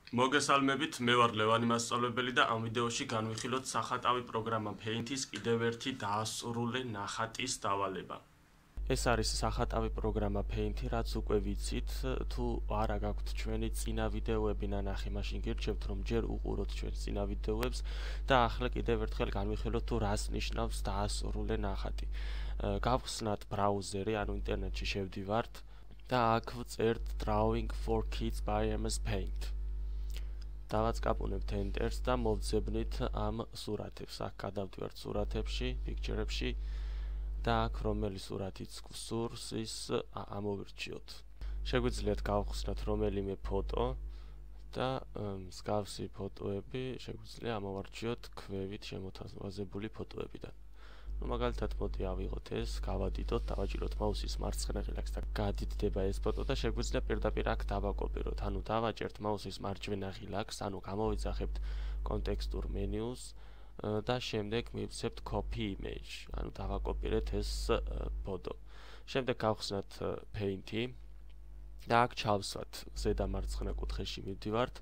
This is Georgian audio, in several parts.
მოგესალმებით, მე ვარ ლევანი მასწავლებელი და ამ ვიდეოში განვიხილოთ სახატავი პროგრამა Paint-ის კიდევ ერთი დაასრულე ნახატის დავალება. ეს არის სახატავი პროგრამა Paint-ი, რაც უკვე ვიცით, თუ არა გაქვთ ჩვენი წინა ვიდეოები ნანახი, მაშინ გირჩევთ რომ ჯერ უყუროთ ჩვენს წინა ვიდეოებს და ახლა კიდევ ერთხელ განვიხილოთ თუ რას ნიშნავს დაასრულე ნახატი. გავხსნათ ბრაუზერი, ანუ ინტერნეტში შევდივართ და აქ ვწერთ Drawing for Kids by MS Paint. დავაწყაპუნებთ Enter-ს და მოვძებნით ამ სურათებს. აქ გადავდივართ სურათებში, პიქჩერებში და აქ რომელი სურათიც გვსურს, ის ამოვირჩიოთ. შეგვიძლიათ გავხსნათ რომელიმე ფოტო და მსგავსი ფოტოები შეგვიძლია ამოვარჩიოთ ქვევით შემოთავაზებული ფოტოებიდან. მაგალითად მოდი ავიღოთ ეს, გავადიდოთ, დავაჭიროთ მაუსის მარცხენა ღილაკს და გადიდდება ეს ფოტო და შეგვიძლია პირდაპირ აქ დავაკოპიროთ. ანუ დავაჭერთ მაუსის მარჯვენა ღილაკს, ანუ გამოვიძახებთ კონტექსტურ მენიუს და შემდეგ მივცემთ copy image, ანუ დავაკოპირეთ ეს ფოტო. შემდეგ გავხსნათ Paint-ი და აქ ჩავსვათ ზედა მარცხენა კუთხეში მივდივართ,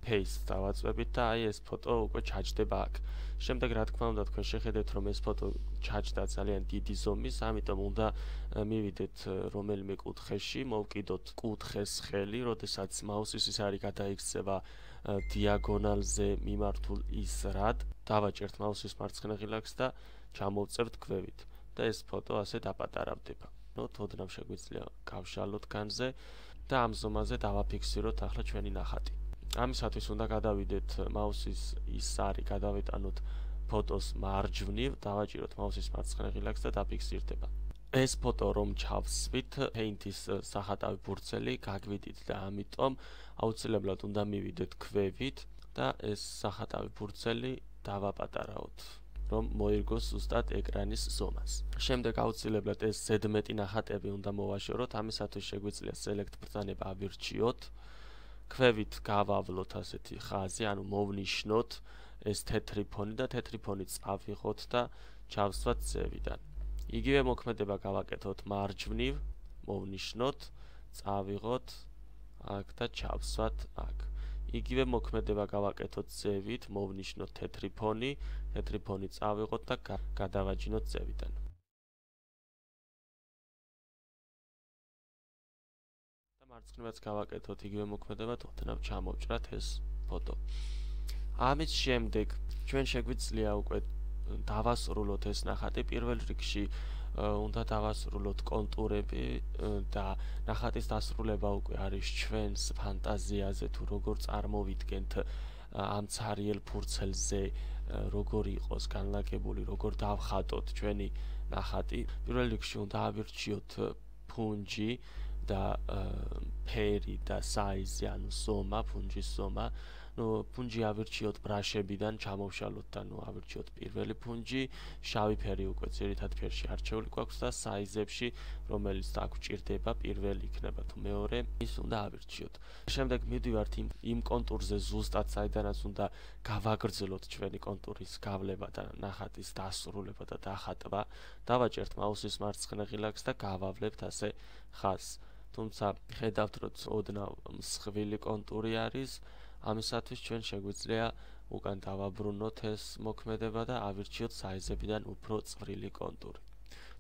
paste დავაწვევით და აი ეს ფოტო უკვე ჩაჯდება აქ. შემდეგ რა თქმა უნდა თქვენ შეხედეთ რომ ეს ფოტო ჩაჯდა ძალიან დიდი ზომის, ამიტომ უნდა მივიდეთ რომელიმე კუთხეში, მოვკიდოთ კუთხეს ხელი, როდესაც მაუსის ის არის გადაიქცევა დიაგონალზე მიმართულ ისრად, დავაჭერთ მაუსის მარცხენა ღილაკს და ჩამოვწევთ ქვევით და ეს ფოტო ასე დაპატარავდება. ოდნავ შეგვიძლია გავშალოთ განზე და ამ ზომაზე დავაფიქსიროთ ახლა ჩვენი ნახატი. ამისათვის უნდა გადავიდეთ მაუსის ისარი, გადავეტანოთ ფოტოს მარჯვნივ, დავაჭიროთ მაუსის მარცხენა ღილაკს და დაფიქსირდება. ეს ფოტო რომ ჩავსვით, Paint-ის სახატავი ბურცელი გაგვიდით და ამიტომ აუცილებლად უნდა მივიდეთ ქვევით და ეს სახატავი ბურცელი დავაპატარავთ, რომ მოირგოს ზუსტად ეკრანის ზომას. შემდეგ აუცილებლად ეს ზედმეტი ნახატები უნდა მოვაშოროთ, ამისათვის შეგვიძლია Select ბრძანება ავირჩიოთ. ქვევით გავავლოთ ასეთი ხაზი, ანუ მოვნიშნოთ ეს თეთრი ფონი და თეთრი ფონი წავიღოთ და ჩავსვათ ზევიდან. იგივე მოქმედება გავაკეთოთ მარჯვნივ, მოვნიშნოთ, წავიღოთ აქ და ჩავსვათ აქ. იგივე მოქმედება გავაკეთოთ ზევით, მოვნიშნოთ თეთრი ფონი წავიღოთ და გადავაჯინოთ ზევიდან. მარცხნივაც გავაკეთოთ იგივე მოქმედება, ოდნავ ჩამოვჭრათ ეს ფოტო. ამის შემდეგ ჩვენ შეგვიძლია უკვე დავასრულოთ ეს ნახატი. პირველ რიგში უნდა დავასრულოთ კონტურები და ნახატის დასრულება უკვე არის ჩვენს ფანტაზიაზე, თუ როგორ წარმოვიდგენთ ამ ცარიელ ფურცელზე, როგორ იყოს განლაგებული, როგორ დავხატოთ ჩვენი ნახატი. პირველ რიგში უნდა ავირჩიოთ ფუნჯი და ფერი და საიზი, ანუ ზომა, ფუნჯის ზომა. ფუნჯი ავირჩიოთ ბრაშებიდან, ჩამოვშალოთ და ავირჩიოთ პირველი ფუნჯი, შავი ფერი უკვე ძირითად ფერში არჩეული გვაქვს და საიზებში, რომელიც აქ გვჭირდება, პირველი იქნება თუ მეორე, ის უნდა ავირჩიოთ. შემდეგ მივდივართ იმ კონტურზე ზუსტად, საიდანაც უნდა გავაგრძელოთ ჩვენი კონტურის გავლება და ნახატის დასრულება და დახატვა. დავაჭერთ მაუსის მარცხენა ღილაკს და გავავლებთ ასე ხაზს. თუმცა ხედავთ რომ ოდნავ მსხვილი კონტური არის, ამისათვის ჩვენ შეგვიძლია უკან დავაბრუნოთ ეს მოქმედება და ავირჩიოთ საიზებიდან უფრო წვრილი კონტური.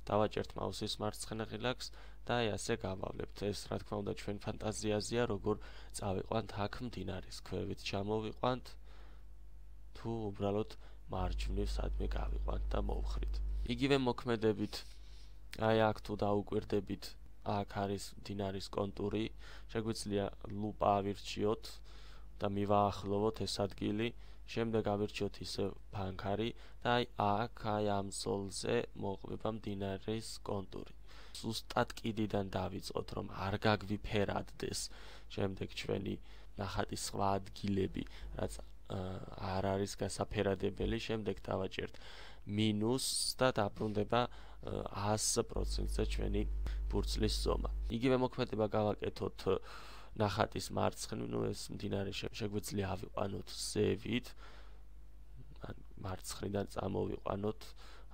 დავაჭერთ მაუსის მარცხენა ღილაკს და აი ასე გავავლებთ. ეს რა თქმა უნდა ჩვენ ფანტაზიაზეა, როგორ წავიყვანთ აქ მდინარის ქვევით ჩამოვიყვანთ, თუ უბრალოდ მარჯვნივ სადმე გავიყვანთ და მოვხრით. იგივე მოქმედებით აი აქ თუ დაუკვირდებით, აქ არის მდინარის კონტური, შეგვიძლია ლუპა ავირჩიოთ და მივაახლოვოთ ეს ადგილი, შემდეგ ავირჩიოთ ისევ ფანქარი და აი ამ ზოლზე მოყვება მდინარის კონტური. ზუსტად კიდიდან დავიწყოთ, რომ არ გაგვიფერადდეს შემდეგ ჩვენი ნახატის სხვა ადგილები, რაც არ არის გასაფერადებელი, შემდეგ დავაჭერთ მინუს და დაბრუნდება 100%-ზე ჩვენი ბურცლის ზომა. იგივე მოქმედება გავაკეთოთ ნახატის მარცხნივ, ეს მდინარე შეგვიძლია ავიყვანოთ ზევით, მარცხნიდან წამოვიყვანოთ,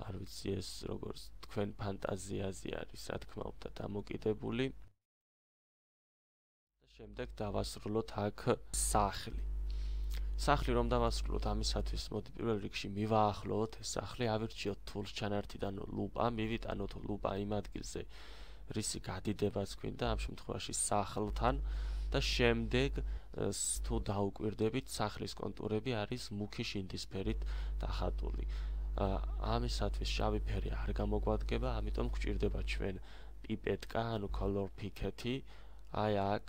არ ვიცი ეს როგორც თქვენ ფანტაზიაზე არის, რა თქმა უნდა, დამოკიდებული. შემდეგ დავასრულოთ აქ სახლი. სახლი რომ დავასრულოთ, ამისათვის მოდი პირველ რიგში მივაახლოვოთ ეს სახლი, ავირჩიოთ თულს ჩანართიდან ლუპა, მივიტანოთ ლუპა იმ ადგილზე, რისი გადიდებაც გვინდა, ამ შემთხვევაში სახლთან და შემდეგ თუ დაუკვირდებით, სახლის კონტურები არის მუქი შინდისფერით დახატული. ამისათვის შავი ფერი არ გამოგვადგება, ამიტომ გვჭირდება ჩვენ პიპეტკა, ანუ color picket-ი. აი აქ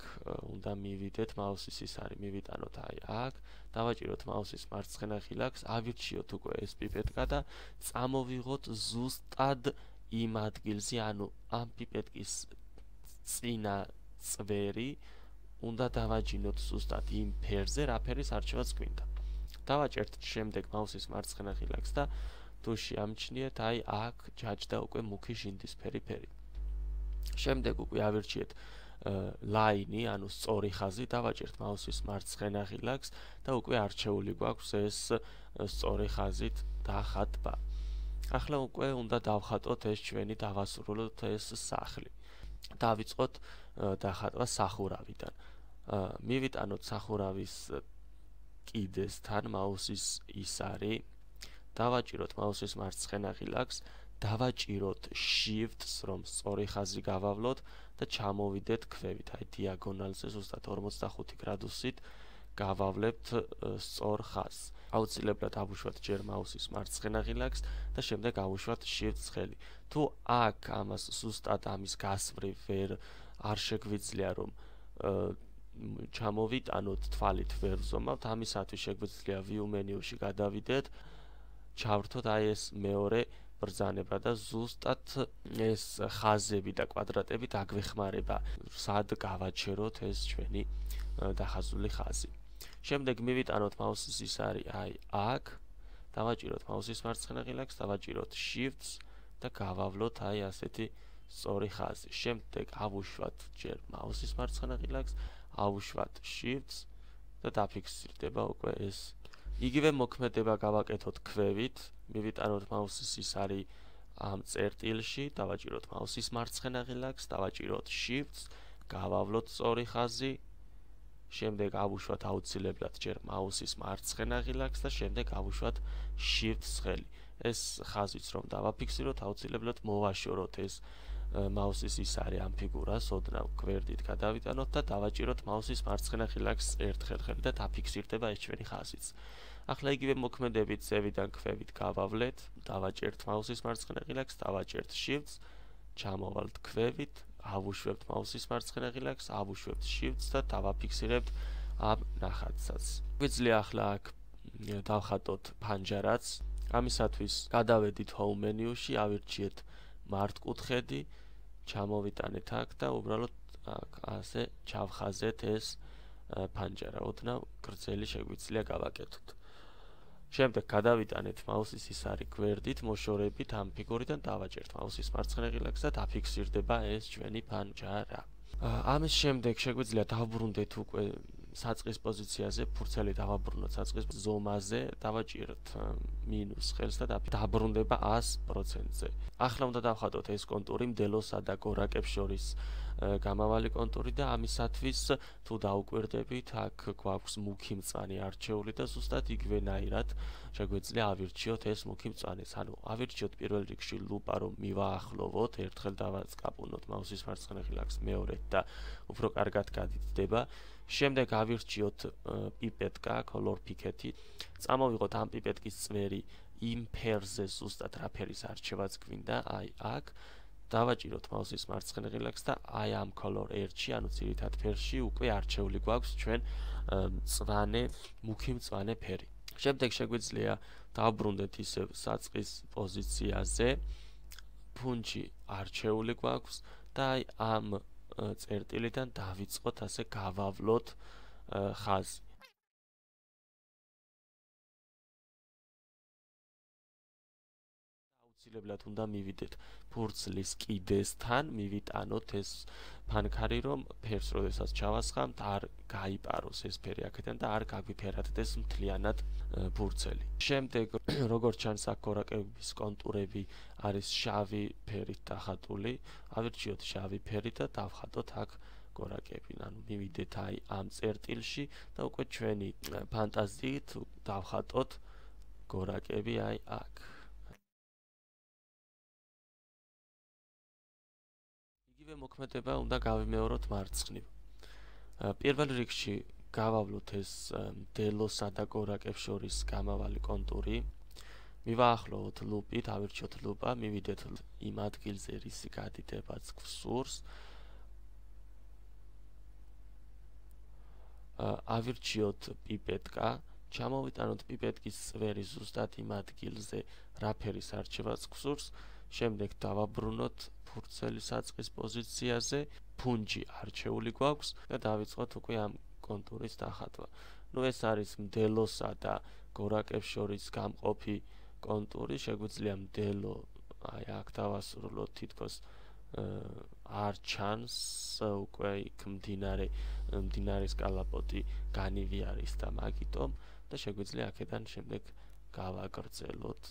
უნდა მივიდეთ, მაუსის ის არის, მივიტანოთ აი აქ, დავაჭიროთ მაუსის მარცხენა ხილაკს, ავირჩიოთ უკვე ეს პიპეტკა და წამოვიღოთ ზუსტად იმ ადგილზე, ანუ ამ პიპეტკის წინა წვერი უნდა დავაჯინოთ ზუსტად იმ ფერზე, რა ფერის არჩევაც გვინდა. დავაჭერთ შემდეგ მაუსის მარცხენა ხილაკს და თუ შეამჩნიეთ, აი აქ ჯაჭდა უკვე მუქი შინდისფერი ფერი. შემდეგ უკვე ავირჩიეთ ლაინი, ანუ სწორი ხაზი, დავაჭერთ მაუსის მარცხენა ხილაკს და უკვე არჩეული გვაქვს ეს სწორი ხაზით დახატვა. ახლა უკვე უნდა დავხატოთ ეს ჩვენი, დავასრულოთ ეს სახლი. დავიწყოთ დახატვა სახურავიდან. მივიტანოთ სახურავის კიდესთან მაუსის ის არის, დავაჭიროთ მაუსის მარცხენა ხილაკს, დავაჭიროთ Shift-ს, რომ სწორი ხაზი გავავლოთ და ჩამოვიდეთ ქვევით, აი დიაგონალზე ზუსტად 45 გრადუსით გავავლებთ სწორ ხაზს. აუცილებლად ავუშვათ ჯერ მაუსის მარცხენა ხილაკს და შემდეგ ავუშვათ Shift-ს ხელი. თუ აქ ამას ზუსტად ამის გასწვრივ არ შეგვიძლია, რომ ჩამოვიტანოთ თვალით ვერ ვზომავთ, ამისათვის შეგვიძლია View მენიუში გადავიდეთ, ჩავრთოთ აი ეს მეორე ბრძანება და ზუსტად ეს ხაზები და კვადრატები დაგვეხმარება, სად გავაჩეროთ ეს ჩვენი დახაზული ხაზი. შემდეგ მივიტანოთ მაუსის ის არის აი აქ, დავაჭიროთ მაუსის მარცხენა ხილაკს, დავაჭიროთ Shift-ს და გავავლოთ აი ასეთი სწორი ხაზი. შემდეგ ავუშვათ ჯერ მაუსის მარცხენა ხილაკს, ავუშვათ Shift-ს და დაფიქსირდება უკვე ეს. იგივე მოქმედება გავაკეთოთ ქვევით, მივიტანოთ მაუსის ის არის ამ წერტილში, დავაჭიროთ მაუსის მარცხენა ხილაკს, დავაჭიროთ Shift-ს, გავავლოთ სწორი ხაზი, შემდეგ ავუშვათ აუცილებლად ჯერ მაუსის მარცხენა ხილაკს და შემდეგ ავუშვათ Shift-ს ხელი. ეს ხაზიც რომ დავაფიქსიროთ, აუცილებლად მოვაშოროთ ეს მაუსის ის არის ამ ფიგურას, ოდნავ გვერდით გადავიტანოთ და დავაჭიროთ მაუსის მარცხენა ხილაკს ერთხელ ხელი და დაფიქსირდება ეს ჩვენი ხაზიც. ახლა იგივე მოქმედებით ზევიდან ქვევით გავავლეთ, დავაჭერთ მაუსის მარცხენა ხილაკს, დავაჭერთ Shift-ს, ჩამოვალთ ქვევით, ავუშვებთ მაუსის მარცხენა ხილაკს, ავუშვებთ Shift-ს და დავაფიქსირებთ ამ ნახატსაც. გვიძლია ახლა აქ დავხატოთ ფანჯარაც. ამისათვის გადავედით Home მენიუში, ავირჩიეთ მართკუთხედი, ჩამოვიტანეთ აქ და უბრალოდ აქ ასე ჩავხაზეთ ეს ფანჯარა, ოდნავ გრძელი შეგვიძლია გავაკეთოთ. შემდეგ გადავიტანეთ მაუსის ის არის გვერდით, მოშორებით ამ ფიგურიდან დავაჭერთ მაუსის მარცხენა ხილაკს და დაფიქსირდება ეს ჩვენი ფანჯარა. ამის შემდეგ შეგვიძლია დავბრუნდეთ უკვე საწყის პოზიციაზე, ფურცელი დავაბრუნოთ საწყის ზომაზე, დავაჭიროთ მინუს ხელს და დაბრუნდება 100%-ზე. ახლა უნდა დავხატოთ ეს კონტური მდელოსა და გორაკებს შორის გამავალი კონტური და ამისათვის თუ დაუკვირდებით, აქ გვაქვს მუქი მწვანე არჩეული და ზუსტად იგივენაირად შეგვიძლია ავირჩიოთ ეს მუქი მწვანეც. ანუ ავირჩიოთ პირველ რიგში ლუპა, რომ მივაახლოვოთ, ერთხელ დავაწყაპუნოთ მაუსის მარცხენა ხილაკს მეორედ და უფრო კარგად გადიდება. შემდეგ ავირჩიოთ პიპეტკა, color picket-ი. წამოვიღოთ ამ პიპეტკის წვერი იმ ფერზე ზუსტად რა ფერის არჩევაც გვინდა, აი აქ. დავაჭიროთ მაუსის მარცხენა ხილაკს და აი ამ color R-ში, ანუ ძირითად ფერში უკვე არჩეული გვაქვს ჩვენ მწვანე, მუქი მწვანე ფერი. შემდეგ შეგვიძლია დავბრუნდეთ ისევ საწყის პოზიციაზე. ფუნჩი არჩეული გვაქვს და აი ამ წერტილიდან დავიწყოთ ასე გავავლოთ ხაზი. აუცილებლად უნდა მივიდეთ ფურცლის კიდესთან, მივიტანოთ ეს ფანქარი, რომ ფერს როდესაც ჩავასხამთ, არ გაიპაროს ეს ფერი აქედან და არ გაგვიფერადდეს მთლიანად ფურცელი. შემდეგ, როგორც ჩანს, აქ გორაკების კონტურები არის შავი ფერით დახატული. ავირჩიოთ შავი ფერი და დავხატოთ აქ გორაკები. ანუ მივიდეთ აი ამ წერტილში და უკვე ჩვენი ფანტაზიით დავხატოთ გორაკები აი აქ. იგივე მოქმედება უნდა გავიმეოროთ მარცხნივ. პირველ რიგში გავავლოთ ეს მდელოსა და გორაკებს შორის გამავალი კონტური. მივაახლოვოთ ლუპით, ავირჩიოთ ლუპა, მივიდეთ იმ ადგილზე, რისი გადიდებაც გვსურს. ავირჩიოთ პიპეტკა, ჩამოვიტანოთ პიპეტკის წვერი ზუსტად იმ ადგილზე, რა ფერის არჩევაც გვსურს. შემდეგ დავაბრუნოთ ფურცელი საწყის პოზიციაზე, ფუნჯი არჩეული გვაქვს და დავიწყოთ უკვე ამ კონტურის დახატვა. ეს არის მდელოსა და გორაკებს შორის გამყოფი კონტური, შეგვიძლია მდელო აი აქ დავასრულოთ, თითქოს არ ჩანს უკვე იქ მდინარის კალაპოტი განივი არის და მაგიტომ და შეგვიძლია აქედან შემდეგ გავაგრძელოთ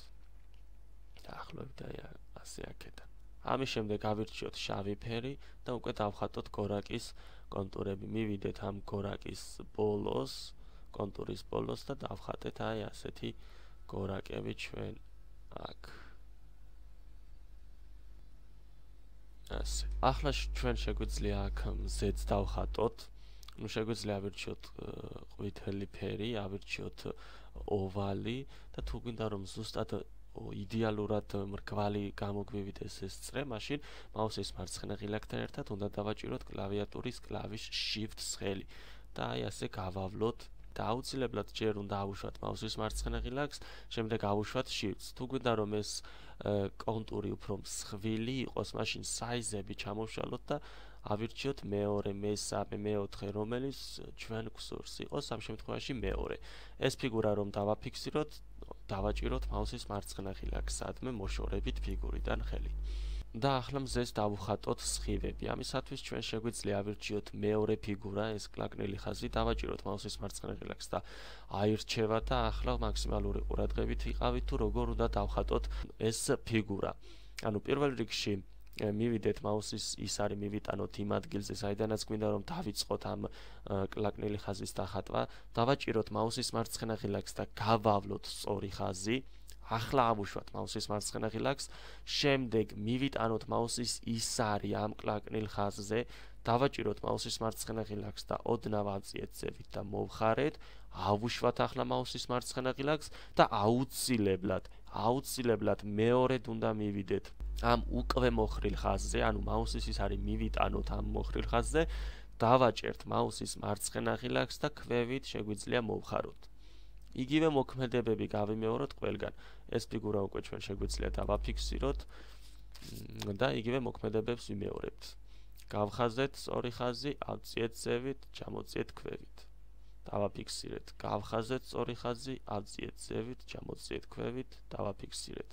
დაახლოებით აი ასე აქედან. ამის შემდეგ ავირჩიოთ შავი ფერი და უკვე დავხატოთ გორაკის კონტურები. მივიდეთ ამ გორაკის ბოლოს, კონტურის ბოლოს და დავხატეთ აი ასეთი გორაკები ჩვენ აქ. ასე. ახლა ჩვენ შეგვიძლია აქ მზეც დავხატოთ. შეგვიძლია ავირჩიოთ ყვითელი ფერი, ავირჩიოთ ოვალი და თუ გვინდა რომ ზუსტად იდეალურად მრგვალი გამოგვივიდეს ეს წრე, მაშინ მაუსის მარცხენა ღილაკთან ერთად უნდა დავაჭიროთ კლავიატურის კლავიშ Shift ხელი და აი ასე გავავლოთ და აუცილებლად ჯერ უნდა ავუშვათ მაუსის მარცხენა ღილაკს, შემდეგ ავუშვათ Shift-ს. თუ გვინდა რომ ეს კონტური უფრო მსხვილი იყოს, მაშინ საიზები ჩამოვშალოთ და ავირჩიოთ მეორე, მესამე, მეოთხე, რომელიც ჩვენ გვსურს იყოს, ამ შემთხვევაში მეორე. ეს ფიგურა რომ დავაფიქსიროთ, დავაჭიროთ მაუსის მარცხენა ღილაკს, სადმე მოშორებით ფიგურიდან ხელი. და ახლა მზეს დავუხატოთ სხივები. ამისათვის ჩვენ შეგვიძლია ავირჩიოთ მეორე ფიგურა, ეს კლაკნილი ხაზი, დავაჭიროთ მაუსის მარცხენა ღილაკს და აირჩევა და ახლა მაქსიმალური ყურადღებით ვიყავით თუ როგორ უნდა დავხატოთ ეს ფიგურა. ანუ პირველ რიგში მივიდეთ მაუსის ის არის მივიტანოთ იმ ადგილზე, საიდანაც გვინდა რომ დავიწყოთ ამ კლაკნილი ხაზის დახატვა, დავაჭიროთ მაუსის მარცხენა ღილაკს და გავავლოთ სწორი ხაზი. ახლა ავუშვათ მაუსის მარცხენა ღილაკს, შემდეგ მივიტანოთ მაუსის ის არის ამ კლაკნილ ხაზზე, დავაჭიროთ მაუსის მარცხენა ღილაკს და ოდნავ ავწიეთ ზევით და მოვხარეთ, ავუშვათ ახლა მაუსის მარცხენა ღილაკს და აუცილებლად მეორედ უნდა მივიდეთ ამ უკვე მოხრილ ხაზზე, ანუ მაუსის ის არის მივიტანოთ ამ მოხრილ ხაზზე, დავაჭერთ მაუსის მარცხენა ღილაკს და ქვევით შეგვიძლია მოვხაროთ. იგივე მოქმედებები გავიმეოროთ ყველგან. ეს ფიგურა უკვე ჩვენ შეგვიძლია დავაფიქსიროთ და იგივე მოქმედებებს ვიმეორებთ. გავხაზეთ სწორი ხაზი, ავწიეთ ზევით, ჩამოწიეთ ქვევით. დავაფიქსირეთ. გავხაზეთ სწორი ხაზი, ავწიეთ ზევით, ჩამოწიეთ ქვევით, დავაფიქსირეთ.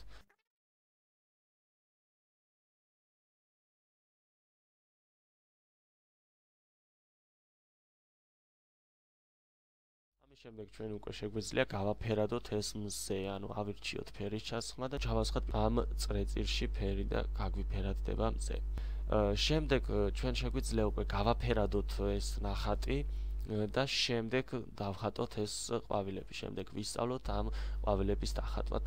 ამის შემდეგ ჩვენ უკვე შეგვიძლია გავაფერადოთ ეს მზე, ანუ ავირჩიოთ ფერის ჩასხმა და ჩავასხოთ ამ წრეწირში ფერი და გაგვიფერადდება მზე. შემდეგ ჩვენ შეგვიძლია უკვე გავაფერადოთ ეს ნახატი და შემდეგ დავხატოთ ეს ყვავილები. შემდეგ ვისწავლოთ ამ ყვავილების დახატვა.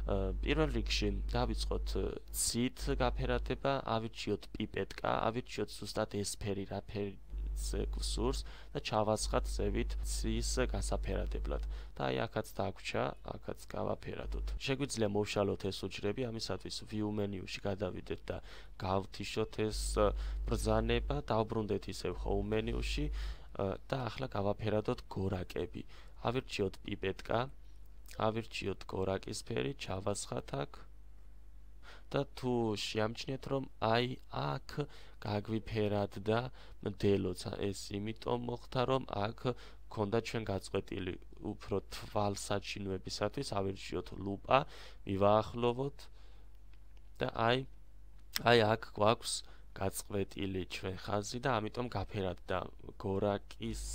პირველ რიგში დავიწყოთ ცით გაფერადება, ავირჩიოთ პიპეტკა, ავირჩიოთ ზუსტად ეს ფერი, რა ფერი გვსურს და ჩავასხათ ზევით ცის გასაფერადებლად. და აი აქაც დაგვრჩა, აქაც გავაფერადოთ. შეგვიძლია მოვშალოთ ეს უჯრები, ამისათვის view მენიუში გადავიდეთ და გავთიშოთ ეს ბრძანება, დავბრუნდეთ ისევ home მენიუში და ახლა გავაფერადოთ გორაკები. ავირჩიოთ პიპეტკა, ავირჩიოთ გორაკის ფერი, ჩავასხათ აქ და თუ შეამჩნიეთ რომ აი აქ გაგვიფერადდა მდელოც, ეს იმიტომ მოხდა რომ აქ ქონდა ჩვენ გაწყვეტილი უფრო თვალსაჩინოებისათვის, ავირჩიოთ ლუპა, მივაახლოვოთ და აი აქ გვაქვს გაწყვეტილი ჩვენ ხაზი და ამიტომ გაფერადდა გორაკის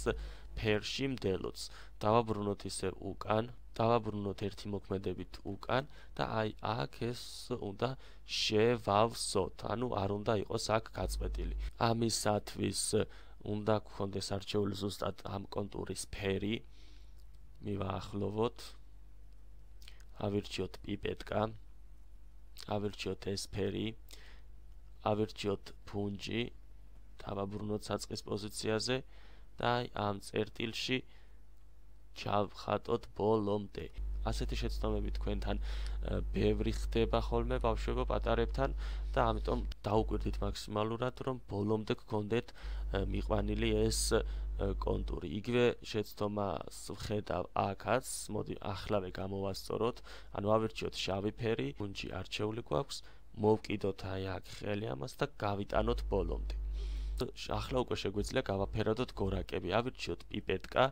ფერში მდელოც. დავაბრუნოთ ისე უკან, დავაბრუნოთ ერთი მოქმედებით უკან და აი აქ ეს უნდა შევავსოთ, ანუ არ უნდა იყოს აქ გაწყვეტილი. ამისათვის უნდა გქონდეს არჩეული ზუსტად ამ კონტურის ფერი. მივაახლოვოთ. ავირჩიოთ პიპეტკა. ავირჩიოთ ეს ფერი. ავირჩიოთ ფუნჯი. დავაბრუნოთ საწყის პოზიციაზე და ამ წერტილში ჩავხატოთ ბოლომდე. ასეთი შეცდომები თქვენთან ბევრი ხდება ხოლმე ბავშვებო პატარებთან და ამიტომ დაუკვირდით მაქსიმალურად, რომ ბოლომდე გქონდეთ მიყვანილი ეს კონტური. იგივე შეცდომას ვხედავ აქაც, მოდი ახლავე გამოვასწოროთ, ანუ ავირჩიოთ შავი ფერი, ფუნჯი არჩეული გვაქვს, მოვკიდოთ აი აქ ხელი ამას და გავიტანოთ ბოლომდე. ახლა უკვე შეგვიძლია გავაფერადოთ გორაკები. ავირჩიოთ პიპეტკა,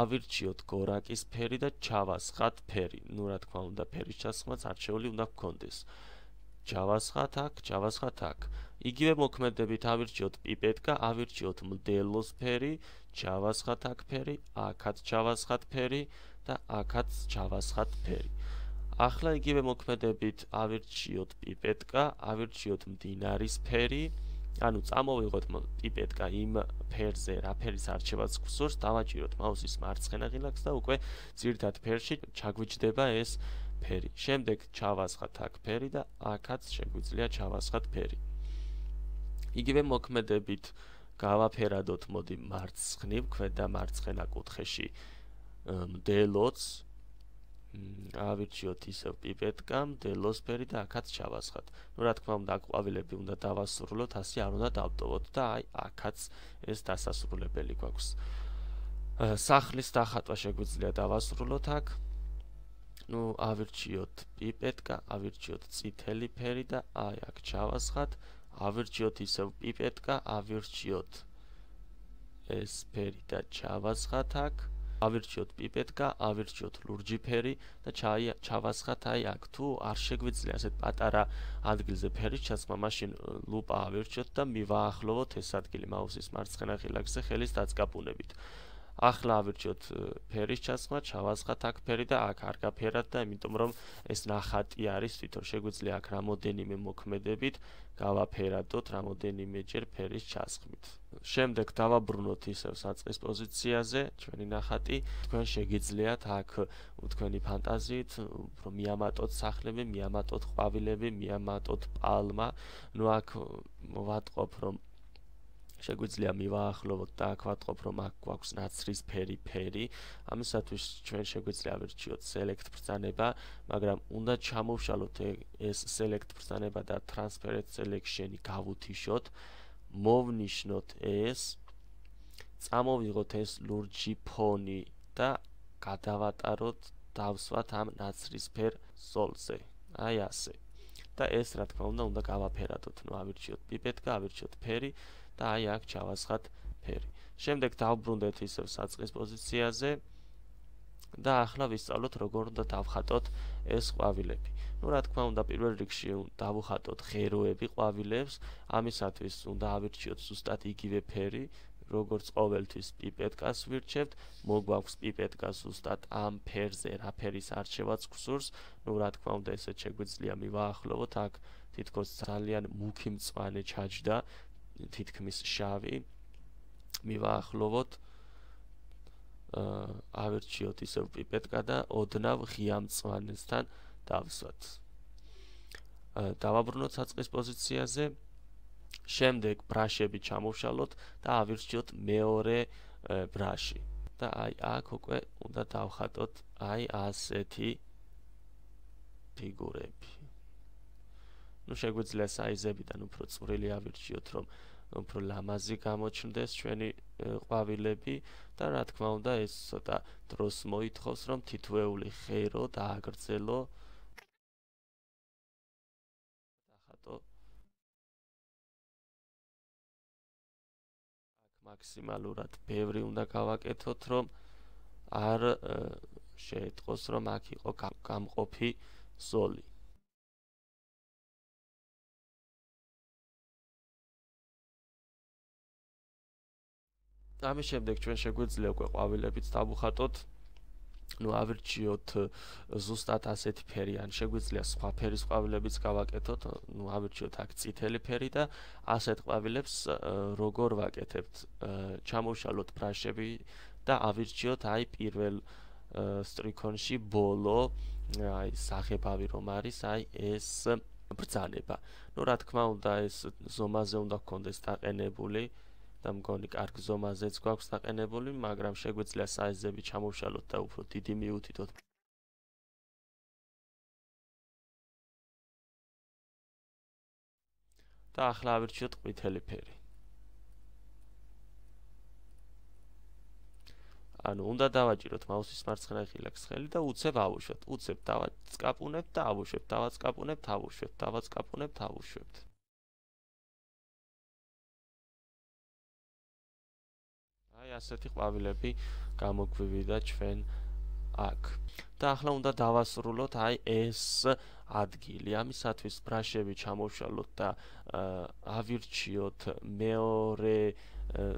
ავირჩიოთ გორაკის ფერი და ჩავასხათ ფერი. ნუ რა თქმა უნდა, ფერის ჩასხმაც არჩეული უნდა გქონდეს. ჩავასხათ აქ, ჩავასხათ აქ. იგივე მოქმედებით ავირჩიოთ პიპეტკა, ავირჩიოთ მდელოს ფერი, ჩავასხათ აქ ფერი, აქაც ჩავასხათ ფერი და აქაც ჩავასხათ ფერი. ახლა იგივე მოქმედებით ავირჩიოთ პიპეტკა, ავირჩიოთ მდინარის ფერი. ანუ წამოვიღოთ პიპეტკა იმ ფერზე, რა ფერის არჩევაც გვსურს, დავაჭიროთ მაუსის მარცხენა ღილაკს და უკვე ძირითად ფერში ჩაგვიჯდება ეს ფერი. შემდეგ ჩავასხათ აქ ფერი და აქაც შეგვიძლია ჩავასხათ ფერი. იგივე მოქმედებით გავაფერადოთ, მოდი მარცხნივ, ქვედა მარცხენა კუთხეში მდელოც. ავირჩიოთ ისევ პიპეტკა, მდელოს ფერი და აქაც ჩავასხათ. ნუ რა თქმა უნდა, აქ ყვავილები უნდა დავასრულოთ, ასე არ უნდა დავტოვოთ და აი აქაც ეს დასასრულებელი გვაქვს. სახლის დახატვა შეგვიძლია დავასრულოთ აქ. ნუ ავირჩიოთ პიპეტკა, ავირჩიოთ წითელი ფერი და აი აქ ჩავასხათ. ავირჩიოთ ისევ პიპეტკა, ავირჩიოთ ეს ფერი და ჩავასხათ აქ. ავირჩიოთ პიპეტკა, ავირჩიოთ ლურჯი ფერი და ჩავასხათ აი აქ. თუ არ შეგვიძლია ასეთ პატარა ადგილზე ფერის ჩასხმა, მაშინ ლუპა ავირჩიოთ და მივაახლოვოთ ეს ადგილი მაუსის მარცხენა ღილაკზე ხელის დაწყაბუნებით. ახლა ავირჩიოთ ფერის ჩასხმა, ჩავასხათ აქ ფერი და აქ არ გაფერად და იმიტომ რომ ეს ნახატი არის, თვითონ შეგვიძლია აქ რამოდენიმე მოქმედებით გავაფერადოთ რამოდენიმეჯერ ფერის ჩასხმით. შემდეგ დავაბრუნოთ ისევ საწყის პოზიციაზე ჩვენი ნახატი. თქვენ შეგიძლიათ აქ თქვენი ფანტაზიით უფრო მიამატოთ სახლები, მიამატოთ ყვავილები, მიამატოთ პალმა. ნუ აქ ვატყობ რომ შეგვიძლია მივაახლოვოთ და აქ ვატყობ რომ აქ გვაქვს ნაცრისფერი ფერი. ამისათვის ჩვენ შეგვიძლია ავირჩიოთ select ბრძანება, მაგრამ უნდა ჩამოვშალოთ ეს select ბრძანება და transparent selection-ი გავუთიშოთ. მოვნიშნოთ ეს, წამოვიღოთ ეს ლურჯი ფონი და გადავატაროთ, დავსვათ ამ ნაცრისფერ ზოლზე. აი ასე. და ეს რა თქმა უნდა გავაფერადოთ. ნუ ავირჩიოთ პიპეტკა, ავირჩიოთ ფერი და აი აქ ჩავასხათ ფერი. შემდეგ დავბრუნდეთ ისევ საწყის პოზიციაზე და ახლა ვისწავლოთ როგორ უნდა დავხატოთ ეს ყვავილები. ნუ რა თქმა უნდა პირველ რიგში დავუხატოთ ღეროები ყვავილებს, ამისათვის უნდა ავირჩიოთ ზუსტად იგივე ფერი, როგორც ყოველთვის პიპეტკას ვირჩევთ, მოგვაქვს პიპეტკა ზუსტად ამ ფერზე, რა ფერის არჩევაც გვსურს. ნუ რა თქმა უნდა ესეც შეგვიძლია მივაახლოვოთ, აქ თითქოს ძალიან მუქი მწვანე ჩაჯდა, თითქმის შავი. მივაახლოვოთ, ავირჩიოთ ისევ პიპეტკა და ოდნავ ღია მწვანესთან დავსვათ. დავაბრუნოთ საწყის პოზიციაზე. შემდეგ ბრაშები ჩამოვშალოთ და ავირჩიოთ მეორე ბრაში. და აი აქ უკვე უნდა დავხატოთ აი ასეთი ფიგურები. ნუ შეგვიძლია საიზებიდან უფრო წვრილი ავირჩიოთ, რომ უფრო ლამაზი გამოჩნდეს ჩვენი ყვავილები და რა თქმა უნდა ეს ცოტა დროს მოითხოვს, რომ თითოეული ღერო დააგრძელო. დახატო. აქ მაქსიმალურად ბევრი უნდა გავაკეთოთ, რომ არ შეეტყოს, რომ აქ იყო გამყოფი ზოლი. ამის შემდეგ ჩვენ შეგვიძლია უკვე ყვავილებიც დავუხატოთ. ავირჩიოთ ზუსტად ასეთი ფერი, ან შეგვიძლია სხვა ფერის ყვავილებიც გავაკეთოთ, ავირჩიოთ აქ წითელი ფერი და ასეთ ყვავილებს როგორ ვაკეთებთ? ჩამოვშალოთ ბრაშები და ავირჩიოთ აი პირველ სტრიქონში ბოლო, აი სახებავი რომ არის, აი ეს ბრძანება. რა თქმა უნდა, ეს ზომაზე უნდა გქონდეს დაყენებული და მგონი კარგ ზომაზეც გვაქვს დაყენებული, მაგრამ შეგვიძლია საიზები ჩამოვშალოთ და უფრო დიდი მიუთითოთ. და ახლა ავირჩიოთ ყვითელი ფერი. ანუ უნდა დავაჭიროთ მაუსის მარცხენა ხილაკს ხელი და უცებ ავუშვებთ. უცებ დავაწყაპუნებთ და ავუშვებთ, დავაწყაპუნებთ, ავუშვებთ, დავაწყაპუნებთ, ავუშვებთ. აი ასეთი ყვავილები გამოგვივიდა ჩვენ აქ. და ახლა უნდა დავასრულოთ აი ეს ადგილი. ამისათვის ბრაშები ჩამოვშალოთ და ავირჩიოთ მეორე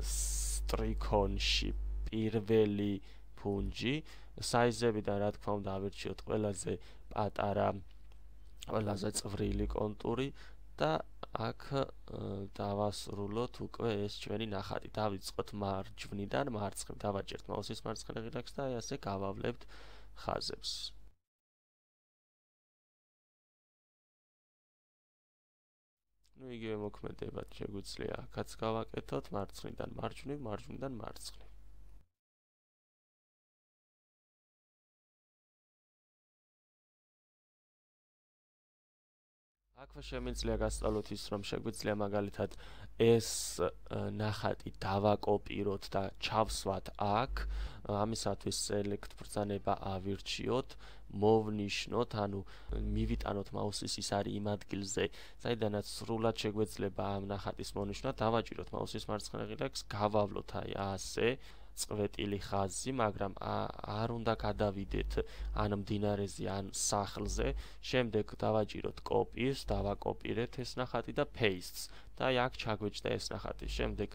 სტრიქონში პირველი ფუნჯი. საიზებიდან რა თქმა უნდა ავირჩიოთ ყველაზე პატარა, ყველაზე წვრილი კონტური და აქ დავასრულოთ უკვე ეს ჩვენი ნახატი. დავიწყოთ მარჯვნიდან მარცხნივ, დავაჭერთ მაუსის მარცხენა ხილაკს და აი ასე გავავლებთ ხაზებს. იგივე მოქმედებად შეგვიძლია აქაც გავაკეთოთ მარცხნიდან მარჯვნივ, მარჯვნიდან მარცხნივ. აქვე შემიძლია გასწავლოთ ის, რომ შეგვიძლია მაგალითად ეს ნახატი დავაკოპიროთ და ჩავსვათ აქ. ამისათვის select ბრძანება ავირჩიოთ, მოვნიშნოთ, ანუ მივიტანოთ მაუსის ის არის იმ ადგილზე, საიდანაც სრულად შეგვეძლება ამ ნახატის მონიშნა. დავაჭიროთ მაუსის მარცხენა ხილაკს, გავავლოთ აი ასე წვეტილი ხაზი, მაგრამ არ უნდა გადავიდეთ ან მდინარეზე, ან სახლზე. შემდეგ დავაჭიროთ copy-ს, დავაკოპირეთ ეს ნახატი და paste-ს და აი აქ ჩაგვეჭდა ეს ნახატი. შემდეგ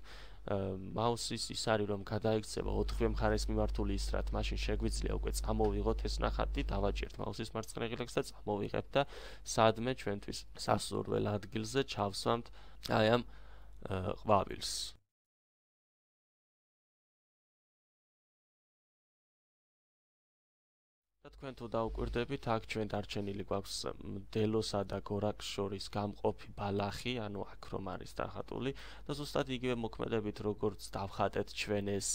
მაუსის ის არის, რომ გადაიქცევა 4-ვე მხარეს მიმართული ისრად, მაშინ შეგვიძლია უკვე წამოვიღოთ ეს ნახატი, დავაჭერთ მაუსის მარცხენა ხილაკს და წამოვიღებთ და სადმე ჩვენთვის სასურველ ადგილზე ჩავსვამთ აი ამ ყვავილს. თქვენ თუ დაუკვირდებით, აქ ჩვენ დარჩენილი გვაქვს დელოსა და გორაკს შორის გამყოფი ბალახი, ანუ აქ რომ არის დახატული და ზუსტად იგივე მოქმედებით, როგორც დავხატეთ ჩვენ ეს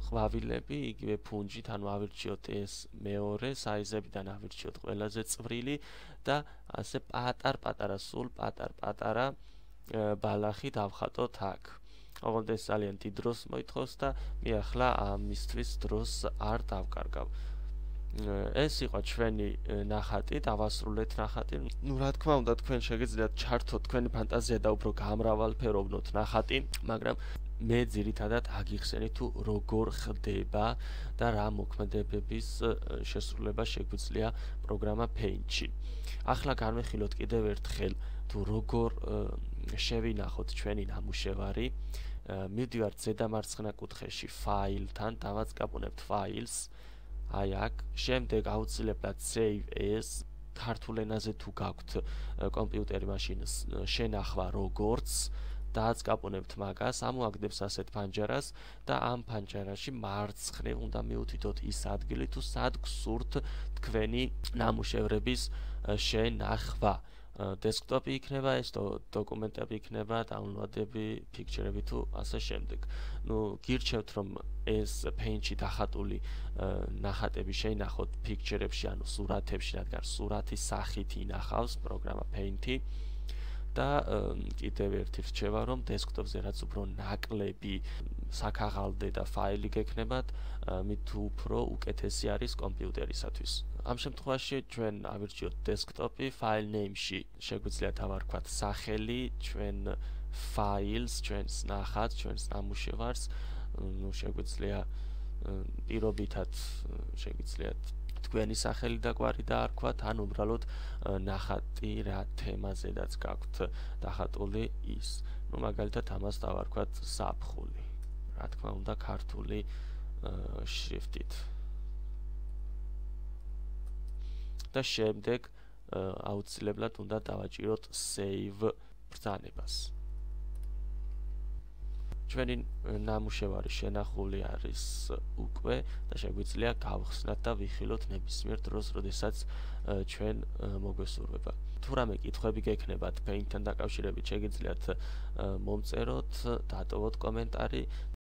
ყვავილები, იგივე ფუნჯით, ანუ ავირჩიოთ ეს მეორე, საიზებიდან ავირჩიოთ ყველაზე წვრილი და ასე პატარ-პატარა, სულ პატარ-პატარა ბალახი დავხატოთ აქ. ოღონდ ეს ძალიან დიდ დროს მოითხოვს და მე ახლა ამისთვის დროს არ დავკარგავ. ეს იყო ჩვენი ნახატი, დავასრულეთ ნახატი. რა თქმა უნდა, თქვენ შეგიძლიათ ჩართოთ თქვენი ფანტაზია და უფრო გამრავალფეროვნოთ ნახატი, მაგრამ მე ძირითადად აგიხსენით თუ როგორ ხდება და რა მოქმედებების შესრულება შეგვიძლია პროგრამა Paint-ში. ახლა განვიხილოთ კიდევ ერთხელ თუ როგორ შევინახოთ ჩვენი ნამუშევარი. მივდივართ ზედა მარცხენა კუთხეში ფაილთან, დავაწყაპუნებთ ფაილს. აი აქ, შემდეგ აუცილებლად save as, ქართულ ენაზე თუ გაქვთ კომპიუტერი, მაშინ შენახვა როგორც, დააწყაპუნებთ მაგას, ამოაგდებს ასეთ ფანჯარას და ამ ფანჯარაში მარცხნივ უნდა მიუთითოთ ის ადგილი, თუ სად გსურთ თქვენი ნამუშევრების შენახვა. დესკტოპი იქნება ეს, დოკუმენტები იქნება, დაუნლოდები, ფიქჩერები თუ ასე შემდეგ. გირჩევთ რომ ეს Paint-ში დახატული ნახატები შეინახოთ ფიქჩერებში, ანუ სურათებში, რადგან სურათის სახით ინახავს პროგრამა Paint-ი. და კიდევ ერთი რჩევა, რომ დესკტოპზე რაც უფრო ნაკლები საქაღალდე და ფაილი გექნებათ, მით უფრო უკეთესი არის კომპიუტერისათვის. ამ შემთხვევაში ჩვენ ავირჩიოთ დესკტოპი, file name-ში შეგვიძლია დავარქვათ სახელი, ჩვენ ფაილს, ჩვენს ნახატს, ჩვენს ნამუშევარს, შეგვიძლია პირობითად შეგიძლიათ თქვენი სახელი და გვარი დაარქვათ, ან უბრალოდ ნახატი რა თემაზედაც გაქვთ დახატული ის. მაგალითად ამას დავარქვათ ზაფხული. რა თქმა უნდა, ქართული შრიფტით. და შემდეგ აუცილებლად უნდა დავაჭიროთ save ბრძანებას. ჩვენი ნამუშევარი შენახული არის უკვე და შეგვიძლია გავხსნათ და ვიხილოთ ნებისმიერ დროს, როდესაც ჩვენ მოგვესურვება. თუ რამე კითხვები გექნებათ Paint-თან დაკავშირებით, შეგიძლიათ მომწეროთ, დატოვოთ კომენტარი